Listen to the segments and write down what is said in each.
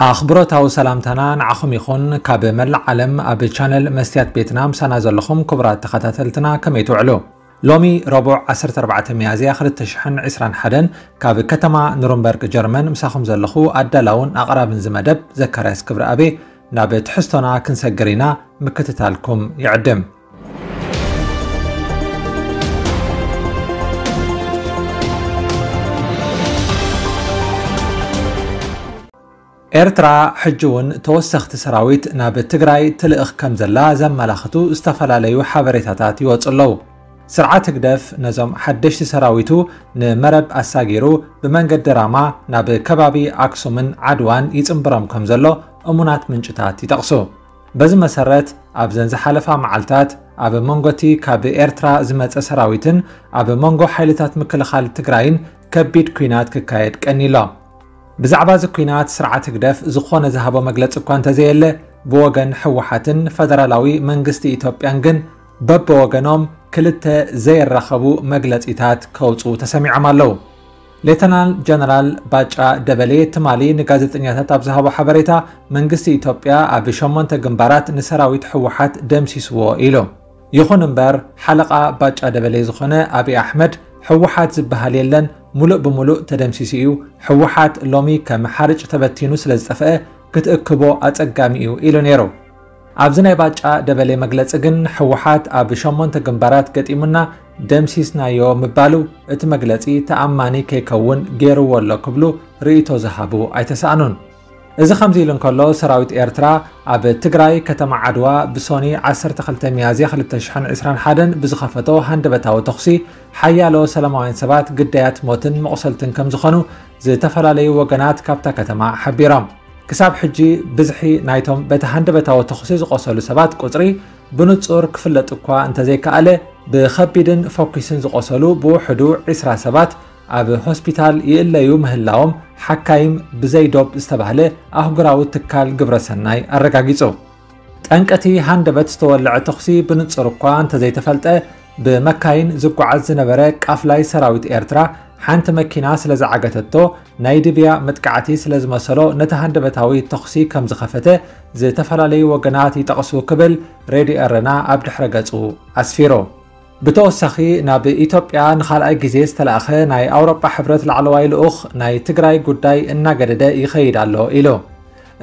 ኣኽብሮታዊ ሰላምታና ንዓኹም ይኹን። ካብ መላእ ዓለም ኣብ ቻነል መስትያት ቤትና ምሳና ዘለኹም ክቡራት ተኸታተልትና ከመይ ትውዕሉ? ሎሚ ረቡዕ ዓሰርተ ኣርባዕተ ሚያዝያ ክልተ ሽሕን ዕስራን ሓደን ካብ ከተማ ኑርንበርግ ጀርመን ምሳኹም ዘለኹ ኣዳላውን ኣቕራብን ዝመደብ ዘካርያስ ክብረኣቤ። ናብ ትሕዝቶና ክንሰግር ኢና፣ ምክትታልኩም ይዕድም። ኤርትራ ሕጂ እውን ተወሰኽቲ ሰራዊት ናብ ትግራይ ትልእኽ ከም ዘላ ዘመላኽቱ ዝተፈላለዩ ሓበሬታታት ይወፁ ኣለዉ። ስርዓት ህግደፍ ነዞም ሓደሽቲ ሰራዊቱ ንመረብ ኣሳጊሩ ብመንገዲ ራማ ናብ ከባቢ ኣክሱምን ዓድዋን ይፅምብሮም ከም ዘሎ እሙናት ምንጭታት ይጠቕሱ። በዚ መሰረት ኣብዘን ዝሓለፋ መዓልታት ኣብ መንጎቲ ካብ ኤርትራ ዝመፀ ሰራዊትን ኣብ መንጎ ሓይልታት ምክልኻል ትግራይን ከቢድ ኲናት ክካየድ ቀኒሎ። ብዛዕባ እዚ ኲናት ስርዓት ህግደፍ ዝኾነ ዝሃቦ መግለፂ እኳ እንተዘየለ፣ ብወገን ህወሓትን ፈደራላዊ መንግስቲ ኢትዮጵያን ግን በብወገኖም ክልተ ዘየራኸቡ መግለፂታት ከውፅኡ ተሰሚዖም ኣለዉ። ሌተናል ጀነራል ባጫ ደበሌ ትማሊ ንጋዜጠኛታት ኣብ ዝሃቦ ሓበሬታ፣ መንግስቲ ኢትዮጵያ ኣብ ሸሞንተ ግንባራት ንሰራዊት ህወሓት ደምሲስዎ ኢሉ። ይኹን እምበር፣ ሓለቓ ባጫ ደበሌ ዝኾነ ኣብይ ኣሕመድ፣ ህወሓት ዝበሃል የለን፣ ሙሉእ ብሙሉእ ተደምሲሱ እዩ፣ ህወሓት ሎሚ ከም ሓርጭ ተበቲኑ ስለ ዝጠፍአ፣ ክትእክቦ ኣጸጋሚ እዩ ኢሉ ነይሩ። ኣብዚ ናይ ባጫ ደበሌ መግለጺ ግን፣ ህወሓት ኣብ ሸሞንተ ግንባራት ገጢሙና፣ ደምሲስናዮ ምባሉ፣ እቲ መግለጺ ተኣማኒ ከይከውን ገይርዎ ኣሎ ክብሉ ርእይቶ ዝሃቡ ኣይተሳእኑን። እዚ ከምዚ ኢሉ እንከሎ፣ ሰራዊት ኤርትራ ኣብ ትግራይ ከተማ ዓድዋ ብሶኒ ዓሰርተ ክልተ ሚያዝያ ክልተ ሽሕን ዕስራን ሓደን ብዝኸፈቶ ሃንደበታዊ ተኹሲ፣ ሓያሎ ሰላማውያን ሰባት ግዳያት ሞትን መቑሰልትን ከም ዝኾኑ ዝተፈላለዩ ወገናት ካብታ ከተማ ሓቢሮም። ክሳብ ሕጂ ብዝሒ ናይቶም በቲ ሃንደበታዊ ተኹሲ ዝቖሰሉ ሰባት ቁጽሪ ብንጹር ክፍለጥ እኳ እንተዘይከኣለ፣ ብኸቢድን ፈኲስን ዝቖሰሉ ብውሕዱ ዕስራ ሰባት ኣብ ሆስፒታል ይእለዩ ምህላዎም ሓካይም ብዘይ ዶብ ዝተባህለ ኣህጉራዊ ትካል ግብረሰናይ ኣረጋጊጹ። ጠንቂ እቲ ሃንደበት ዝተወልዐ ተኹሲ ብንጹር እኳ እንተዘይተፈልጠ፣ ብመካይን ዝጓዓዝ ዝነበረ ቃፍላይ ሰራዊት ኤርትራ ሓንቲ መኪና ስለ ዝዓገተቶ፣ ናይ ድብያ መጥቃዕቲ ስለ ዝመሰሎ፣ ነቲ ሃንደበታዊ ተኹሲ ከም ዝኸፈተ ዝተፈላለዩ ወገናት ይጠቕሱ ክብል ሬድዮ ኤረና ኣብ ድሕረ ገጹ ኣስፊሩ። ብተወሳኺ፣ ናብ ኢትዮጵያ ንኻልኣይ ግዜ ዝተላእኸ ናይ ኣውሮጳ ሕብረት ላዕለዋይ ልኡኽ፣ ናይ ትግራይ ጉዳይ እናገደደ ይኸይድ ኣሎ ኢሉ።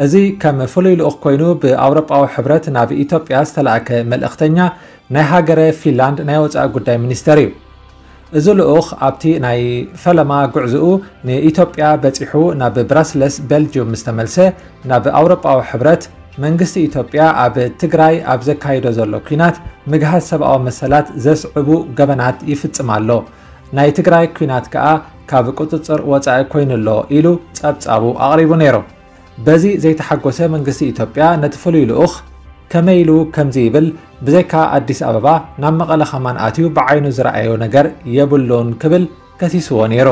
እዚ ከም ፍሉይ ልኡኽ ኮይኑ ብኣውሮጳዊ ሕብረት ናብ ኢትዮጵያ ዝተላእከ መልእኽተኛ፣ ናይ ሃገረ ፊንላንድ ናይ ወጻኢ ጉዳይ ሚኒስተር እዩ። እዚ ልኡኽ ኣብቲ ናይ ፈለማ ጉዕዝኡ ንኢትዮጵያ በጺሑ ናብ ብራስለስ ቤልጅዩም ምስ ተመልሰ፣ ናብ ኣውሮጳዊ ሕብረት፣ መንግስቲ ኢትዮጵያ ኣብ ትግራይ ኣብ ዘካይዶ ዘሎ ኲናት ምግሃስ ሰብኣዊ መሰላት ዘስዕቡ ገበናት ይፍጽም ኣሎ፣ ናይ ትግራይ ኲናት ከኣ ካብ ቁጽጽር ወጻኢ ኮይኑ ኣሎ ኢሉ ጸብጻቡ ኣቕሪቡ ነይሩ። በዚ ዘይተሓጎሰ መንግስቲ ኢትዮጵያ ነቲ ፍሉይ ልኡኽ ከመይ ኢሉ ከምዚ ይብል፣ ብዘይካ ኣዲስ ኣበባ ናብ መቐለ ከማን ኣትዩ ብዓይኑ ዝረኣዮ ነገር የብሉን ክብል ከሲስዎ ነይሩ።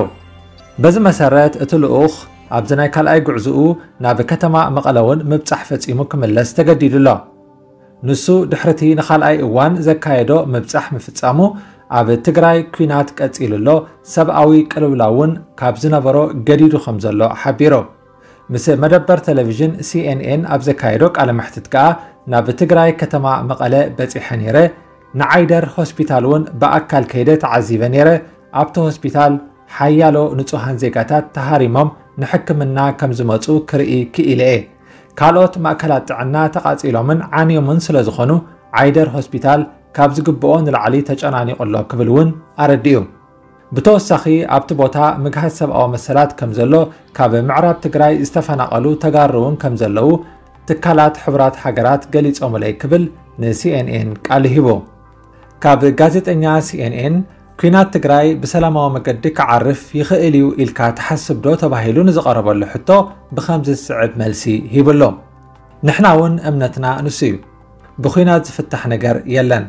በዚ መሰረት እቲ ልኡኽ ኣብዚ ናይ ካልኣይ ጉዕዝኡ ናብ ከተማ መቐለ እውን ምብጻሕ ፈጺሙ ክምለስ ተገዲዱ ኣሎ። ንሱ ድሕርቲ ንኻልኣይ እዋን ዘካየዶ ምብጻሕ ምፍጻሙ ኣብ ትግራይ ኲናት ቀጺሉ ኣሎ፣ ሰብኣዊ ቅልውላው እውን ካብ ዝነበሮ ገዲዱ ከም ዘሎ ሓቢሩ። ምስ መደበር ቴሌቪዥን ሲኤንኤን ኣብ ዘካየዶ ቃለ መሕትት ከኣ፣ ናብ ትግራይ ከተማ መቐለ በጺሐ ነይረ፣ ንዓይደር ሆስፒታል እውን ብኣካል ከይደ ተዓዚበ ነይረ፣ ኣብቲ ሆስፒታል ሓያሎ ንጹሃን ዜጋታት ተሃሪሞም ንሕክምና ከም ዝመጹ ክርኢ ክኢለ እየ። ካልኦት ማእከላት ጥዕና ተቓጺሎምን ዓንዮምን ስለ ዝኾኑ፣ ዓይደር ሆስፒታል ካብ ዝግብኦ ንላዕሊ ተጨናኒቑ ኣሎ ክብል እውን ኣረዲኡ። ብተወሳኺ ኣብቲ ቦታ ምግሃስ ሰብኣዊ መሰላት ከም ዘሎ፣ ካብ ምዕራብ ትግራይ ዝተፈናቐሉ ተጋሩ እውን ከም ዘለዉ ትካላት ሕቡራት ሃገራት ገሊጾምለይ ክብል ንሲኤንኤን ቃል ሂቡ። ካብ ጋዜጠኛ ሲኤንኤን፣ ኲናት ትግራይ ብሰላማዊ መገዲ ክዓርፍ ይኽእል እዩ ኢልካ ትሓስብ ዶ ተባሂሉ ንዝቐረበሉ ሕቶ ብኸምዚ ዝስዕብ መልሲ ሂቡ ኣሎ። ንሕና እውን እምነትና ንሱ እዩ። ብኲናት ዝፍታሕ ነገር የለን።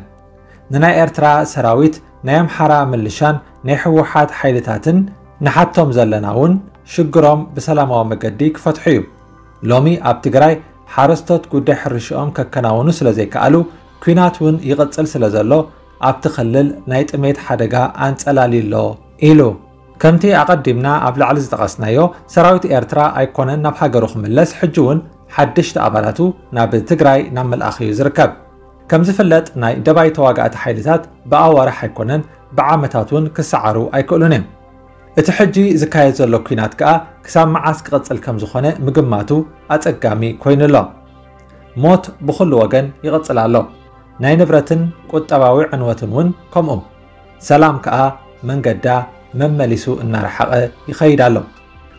ንናይ ኤርትራ ሰራዊት፣ ናይ ኣምሓራ ምልሻን ናይ ህወሓት ሓይልታትን ንሓቶም ዘለና እውን ሽግሮም ብሰላማዊ መገዲ ክፈትሑ እዩ። ሎሚ ኣብ ትግራይ ሓረስቶት ጉዳይ ሕርሽኦም ከከናውኑ ስለ ዘይከኣሉ፣ ኲናት እውን ይቕጽል ስለ ዘሎ፣ ኣብቲ ክልል ናይ ጥሜት ሓደጋ ኣንጸላልዩ ኣሎ ኢሉ። ከምቲ ኣቐዲምና ኣብ ላዕሊ ዝጠቐስናዮ፣ ሰራዊት ኤርትራ ኣይኮነን ናብ ሃገሩ ክምለስ፣ ሕጂ እውን ሓደሽቲ ኣባላቱ ናብ ትግራይ ናብ ምልኣኽ እዩ ዝርከብ። ከም ዝፍለጥ፣ ናይ ደባይ ተዋጋእቲ ሓይልታት ብኣዋርሕ ኣይኮነን፣ ብዓመታት እውን ክሰዓሩ ኣይክእሉን እዮም። እቲ ሕጂ ዝካየድ ዘሎ ኲናት ከኣ ክሳብ መዓስ ክቕጽል ከም ዝኾነ ምግማቱ ኣጸጋሚ ኮይኑ ኣሎ። ሞት ብኹሉ ወገን ይቕጽል ኣሎ። ናይ ንብረትን ቁጠባዊ ዕንወትን እውን ከምኡ። ሰላም ከኣ መንገዳ መመሊሱ እናረሓቐ ይኸይድ ኣሎ።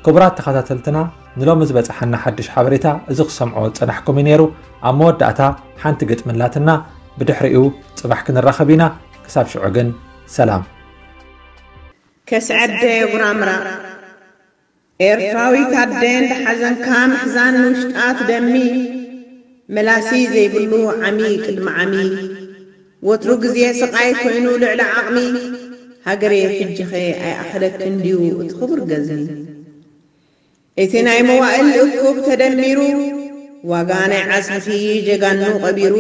ክቡራት ተኸታተልትና፣ ንሎሚ ዝበጽሓና ሓድሽ ሓበሬታ እዚ ክሰምዖ ዝጸናሕኩም እዩ ነይሩ። ኣብ መወዳእታ ሓንቲ ግጥሚ ኣላትና፣ ብድሕሪኡ ጽባሕ ክንራኸብ ኢና። ክሳብ ሽዑ ግን ሰላም። ከስዐደ ጉራምራ ኤርትራዊት ኣደ እንዳ ሓዘንካ ምሕዛን ንውሽጣ ትደሚ፣ መላሲ ዘይብሉ ዓሚ ቅድሚ ዓሚ፣ ወትሩ ግዜ ስቓይ ኮይኑ ልዕሊ ዓቕሚ፣ ሃገረይ ሕጂኸ ኣይኣኽለክን ድዩ እቲ ክቡር ገዝሚ? እቲ ናይ መዋእል እኩብ ተደሚሩ፣ ዋጋ ናይ ዓስብኺ ጀጋኑ ቀቢሩ፣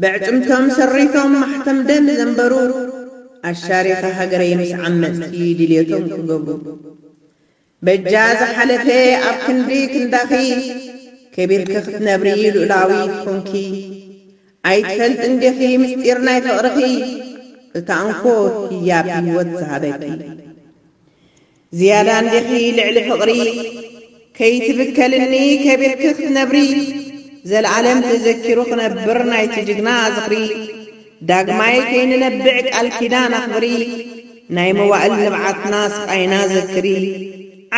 ብዕጽምቶም ሰሪቶም ማሕተም ደም ዘንበሩ፣ ኣሻሪኻ ሃገረይ ምስ ዓመጽቲ ድልየቶም ክገብሩ። በጃ ዝሓለፈ ኣብ ክንዲ ክንዳኺ፣ ከቢርኪ ክትነብሪ ሉእላዊት ኮንኪ። ኣይትፈልጥን ዲኺ ምስጢር ናይ ፍቕርኺ፣ እታ እንኮ ህያብ ህይወት ዝሃበኪ። ዝያዳ እንዲኺ ልዕሊ ፍቕሪ፣ ከይትብከልኒ ከቢርኪ ክትነብሪ። ዘለኣለም ተዘኪሩ ክነብር ናይቲ ጅግና ዝኽሪ። ዳግማይ ከይንነብዕ ቃል ኪዳን ኣኽብሪ። ናይ መዋእል ንብዓትና ስቓይና ዘክሪ።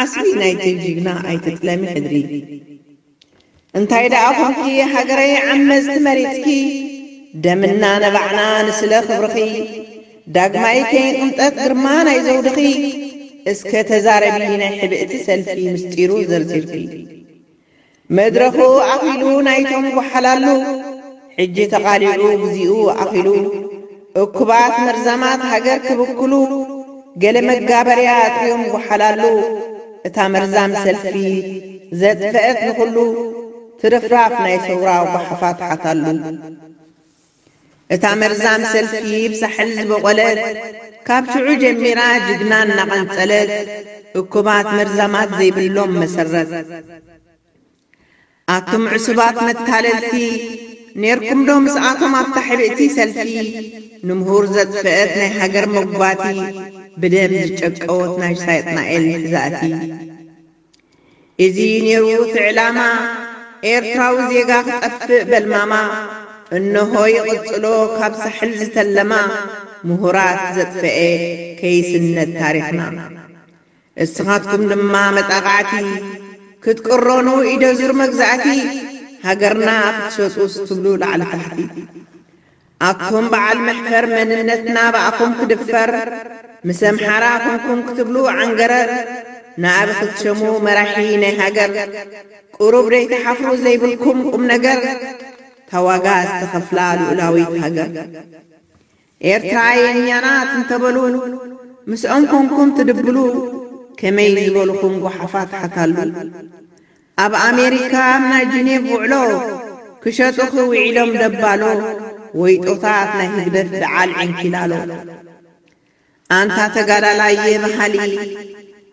ዓስቢ ናይቲ ጅግና ኣይትጥለሚ ሕድሪ። እንታይ ደኣ ኾንኪ ሃገረይ ዓመጽቲ መሪጽኪ። ደምና ነባዕና ንስለ ክብርኺ። ዳግማይ ከይንቕንጠጥ ግርማ ናይ ዘውድኺ። እስከ ተዛረቢ ናይ ሕብእቲ ሰልፊ ምስጢሩ ዘርዚርኪ። መድረኹ ኣኺሉ ናይቶም ጓሓላሉ። ሕጂ ተቓሊዑ ግዚኡ ኣኺሉ። እኩባት መርዛማት ሃገር ክብክሉ። ገለ መጋበርያ ኣጥርዮም ጓሓላሉ። እታ መርዛም ሰልፊ ዘጥፈአት ንኹሉ። ትርፍራፍ ናይ ሰውራ ጓሓፋት ሓታሉ። እታ መርዛም ሰልፊ ብሳሕል ዝበቖለት፣ ካብ ሽዑ ጀሚራ ጅግና እናቐንጸለት፣ እኩባት መርዛማት ዘይብሎም መሰረት። ኣቱም ዕሱባት መታለልቲ፣ ኔርኩም ዶ ምስኣቶም ኣብታ ሕብእቲ ሰልፊ? ንምሁር ዘጥፈአት ናይ ሃገር መጓቲ፣ ብደም ዝጨቀወት ናይ ሳጥናኤል ትዛእቲ። እዚ ኔሩ እቲ ዕላማ፣ ኤርትራዊ ዜጋ ክጠፍእ በልማማ። እንሆ ይቕጽሎ ካብ ሳሕል ዝተለማ፣ ምሁራት ዘጥፈኤ ከይስነድ ታሪኽና። እስኻትኩም ድማ መጣቓዕቲ፣ ክትቅረኑ ኢደ ዙር መግዛእቲ፣ ሃገርና ክትሸጡ ስትብሉ ላዕሊ ታሕቲ። ኣቱም በዓል መሕፈር መንነትና ብኣኹም ክድፈር፣ ምስ ኣምሓራ ኮንኩም ክትብሉ ዓንገረር፣ ንኣቢ ክትሸሙ መራሒ ናይ ሃገር፣ ቁሩብ ደይትሓፍሩ ዘይብልኩም ቁም ነገር፣ ታዋጋ ዝተኸፍላ ልኡላዊት ሃገር። ኤርትራ የኛ ናት እንተበሉ፣ ምስኦም ኮንኩም ትድብሉ፣ ከመይ ዝበልኹም ጓሓፋት ሓታሉ። ኣብ ኣሜሪካ ኣብ ናይ ጅኔቭ ውዕሎ፣ ክሸጡኺ ውዒሎም ደባሎ፣ ወይጦታት ናይ ህግደፍ ደዓል ዕንኪላሎ። ኣንታ ተጋዳላይ የበሃሊ፣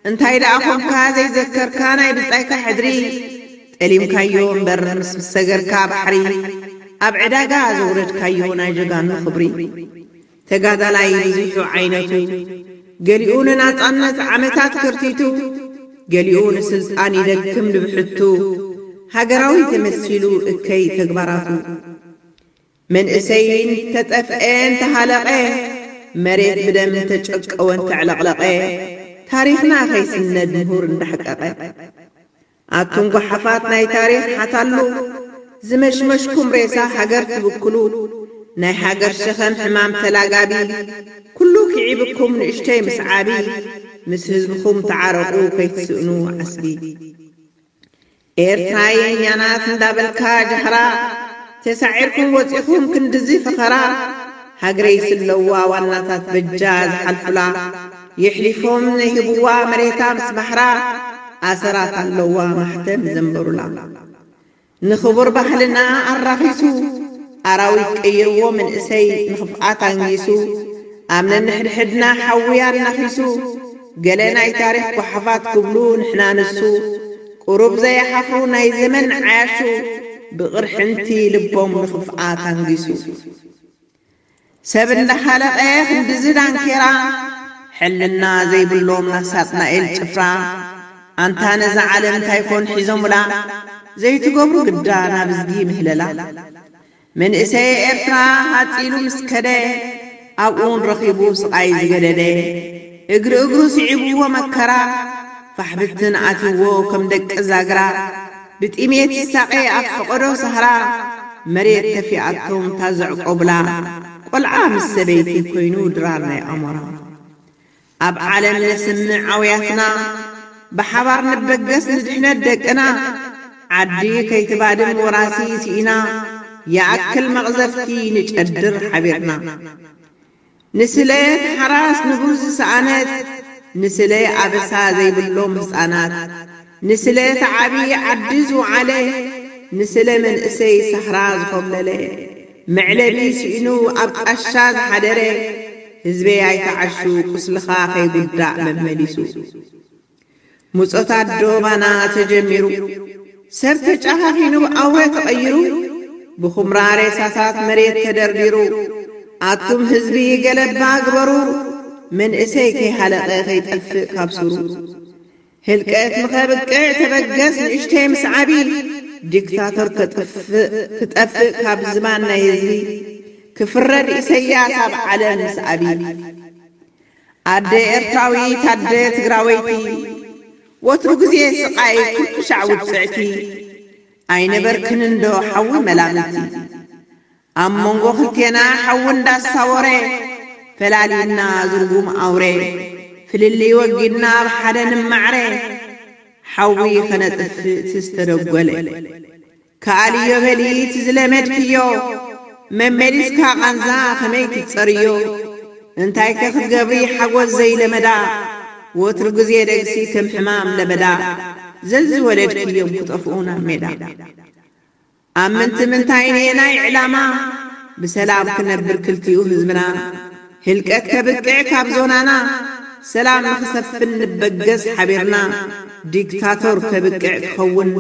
እንታይ ደኣ ኾንካ ዘይዘከርካ ናይ ብጻይካ ሕድሪ፣ ጠሊምካዮ እምበር ምስ ሰገርካ ባሕሪ፣ ኣብ ዕዳጋ ዘውረድካዮ ናይ ጀጋኑ ክብሪ። ተጋዳላይ ብዙሑ ዓይነቱ፣ ገሊኡ ንናጻነት ዓመታት ከርቲቱ፣ ገሊኡ ንስልጣን ይደክም ንብሕቱ፣ ሃገራዊ ተመሲሉ እከይ ተግባራቱ። መንእሰይ እንተጠፍኤ እንተሃለቐ፣ መሬት ብደም እንተጨቀወ እንተዕለቕለቐ፣ ታሪኽና ከይስነድ ምሁር እንዳሕቀቐ። ኣቱም ጓሓፋት ናይ ታሪኽ ሓታሉ፣ ዝመሽመሽኩም ሬሳ ሃገር ትብክሉ፣ ናይ ሃገር ሸኸም ሕማም ተላጋቢ፣ ኩሉ ክዒብኩም ንእሽተይ ምስ ዓቢ፣ ምስ ህዝብኹም ተዓረቑ ከይትስእኑ ዓስቢ። ኤርትራ የኛ ናት እንዳበልካ ጃህራ፣ ተሳዒርኩም ወጺኹም ክንድዚ ፈኸራ፣ ሃገረይ ስለዋ ዋናታት በጃ ዝሓልፉላ፣ የሕሊፎም ነይህብዋ መሬታ ምስ ባሕራ፣ ኣሰራት ኣለዋ ማሕተም ዘንበሩላ። ንኽቡር ባህልና ኣራኺሱ፣ ኣራዊት ቀይርዎ መንእሰይ ንኽፍኣት ኣንጊሱ፣ ኣብ ነንሕድሕድና ሓዊ ኣናኺሱ፣ ገለ ናይ ታሪኽ ጓሓፋት ክብሉ ንሕና ንሱ፣ ቁሩብ ዘይሓፍሩ ናይ ዘመን ዓያሹ፣ ብቕርሕንቲ ልቦም ንኽፍኣት ኣንጊሱ። ሰብ እንዳሓለቐ ክንድዚ ዳንኬራ፣ ሕልና ዘይብሎም ናሳጥናኤል ጭፍራ፣ ኣንታ ነዛ ዓለም እንታይ ኮን ሒዞምላ፣ ዘይትገብሩ ግዳ ናብ እዝጊ ምህለላ። መንእሰይ ኤርትራ ሃጺሉ ምስ ከደ፣ ኣብኡን ረኺቡ ስቓይ ዝገደደ፣ እግሪ እግሩ ስዒብዎ መከራ፣ ፋሕብትን ኣትይዎ ከም ደቂ ዛግራ፣ ብጥሜት ይሳቐ ኣብ ፈቐዶ ሳህራ፣ መሬት ተፊኣቶም ታዘዕቆብላ፣ ቆልዓ ምስ ሰበይቲ ኮይኑ ድራር ናይ ኣሞራ። ኣብ ዓለም ነስምዕ ኣውያትና፣ ብሓባር ንበገስ ንድሕነት ደቅና። ዓዲ ከይትባድም ወራሲ ስኢና፣ ይኣክል መቕዘፍቲ ንጨድር ሓቢርና። ንስለ ተሓራስ ንቡር ዝሰኣነት፣ ንስለ ኣበሳ ዘይብሎም ህፃናት፣ ንስለ ተዓቢ ዓዲ ዝወዓለ፣ ንስለ መንእሰይ ሳህራ ዝኾብለለ፣ መዕለቢ ስኢኑ ኣብ ጣሻ ዝሓደረ፣ ህዝበይ ኣይትዓሹ ቁስልኻ ከይጉዳእ መመሊሱ። ሙጾት ኣዶ ባና ተጀሚሩ፣ ሰብ ተጨኻኺኑ ኣውረ ተቐይሩ፣ ብኹምራ ሬሳታት መሬት ተደርዲሩ፣ ኣቱም ህዝቢ ገለባ ግበሩ፣ መንእሰይ ከይሃለቐ ከይጠፍእ ካብ ሱሩ። ህልቀት ንኸብቅዕ ተበገስ ንእሽተይ ምስ ዓቢ፣ ዲክታቶር ከጥፍእ ክጠፍእ ካብ ዝባን ናይ ህዝቢ፣ ክፍረድ ኢሰያስ ኣብ ዓለም ምስ ኣቢ። ኣደ ኤርትራዊት ኣደ ትግራወይቲ፣ ወትሩ ግዜ ስቓይ ኩሉ ሻዕ ውጽዕቲ፣ ኣይነበርክን እንዶ ሓዊ መላምቲ። ኣብ መንጎ ክልቴና ሓዊ እንዳሳወረ፣ ፈላሊና ዝርጉም ኣውሬ፣ ፍልልይ ወጊድና ኣብ ሓደ ንማዕረ፣ ሓዊ ኸነጥፍእ እቲ ዝተደጎለ። ከኣልዮ በሊ እቲ ዝለመድክዮ፣ መመሊስካ ቃንዛ ኸመይ ክትጸርዮ? እንታይከ ክትገብሪ ሓጎስ ዘይለመዳ፣ ወትሩ ግዜ ደግሲ ከም ሕማም ለበዳ፣ ዘዝወለድክዮም ክጠፍኡ ናብ ሜዳ። ኣብ ምንቲ ምንታይ ናይ ዕላማ፣ ብሰላም ክነብር ክልቲኡ ህዝብና፣ ህልቀት ከብቅዕ ካብ ዞናና፣ ሰላም ንኽሰፍን ንበገስ ሓቢርና፣ ዲክታቶር ከብቅዕ ክኸውን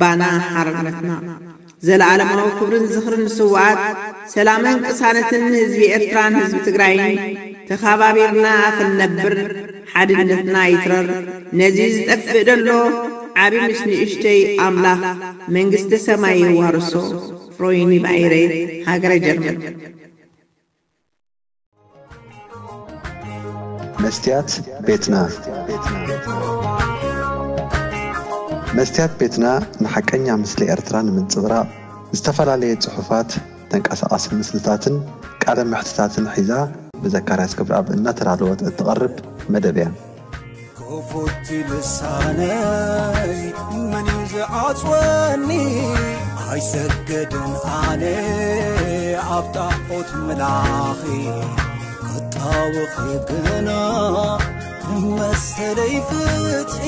ባና ሓርነትና። ዘለኣለማዊ ክብርን ዝኽርን ንስውኣት፣ ሰላምን ቅሳነትን ንህዝቢ ኤርትራን ህዝቢ ትግራይን። ተኻባቢርና ክንነብር ሓድነትና ይትረር። ነዚ ዝጠፍእ ደሎ ዓቢ ምስ ንእሽተይ ኣምላኽ መንግስተ ሰማይ የዋርሶ። ፍሮይኒ ባይረ፣ ሃገረ ጀርመን። መስትያት ቤትና። መስትያት ቤትና ንሓቀኛ ምስሊ ኤርትራ ንምንጽብራቕ፣ ዝተፈላለየ ጽሑፋት፣ ተንቀሳቓሲ ምስልታትን ቃለ መሕትታትን ሒዛ ብዘካርያስ ገብረኣብ እናተዳለወት እትቐርብ መደብ እያ። ክፉት ልሳነይ መን እዩ ዝዓጽወኒ? ኣይሰግድን ኣነ ኣብ ጣዖት ምላኺ፣ ክጣወኺ ግና መሰለይ ፍትሒ።